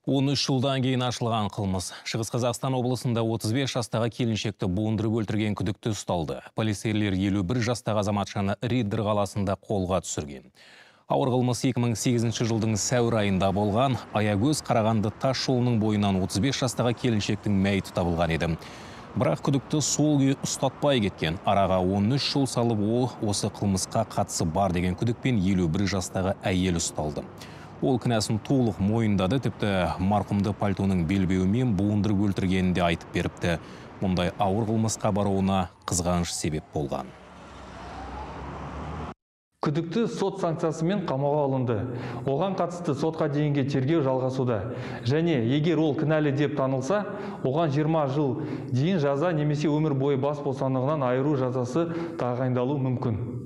13 жылдан кейін ашылған қылмыс. Шығыс Қазақстан облысында 35 жастағы келіншекті буындырып өлтірген күдікті ұсталды. Полицейлер 51 жастағы азаматшаны Риддер қаласында қолға түсірген. Ауыр қылмыс 2008 жылдың сәуір айында болған. Аягөз Қарағанды тас жолының бойынан 35 жастағы келіншектің мәйіті табылған еді. Бірақ күдікті сол күйі ұстатпай кеткен. Араға 13 жыл салып, ол осы қылмысқа қатысы бар деген күдікпен 51 жастағы әйел ұсталды. Ол кінәсін толық мойындады, тіпті марқұмды пальтоның белбеуімен буындырып өлтіргенін де айтып беріпті. Мұндай ауыр қылмысқа баруына қызғаныш себеп болған. Күдікті сот санкциясымен қамауға алынды. Оған қатысты сотқа дейінгі тергеу жалғасуда. Және егер ол кінәлі деп танылса, оған 20 жыл дейін жаза немесе өмір бойы бас бостандығынан айыру жазасы тағайындалуы мүмкін.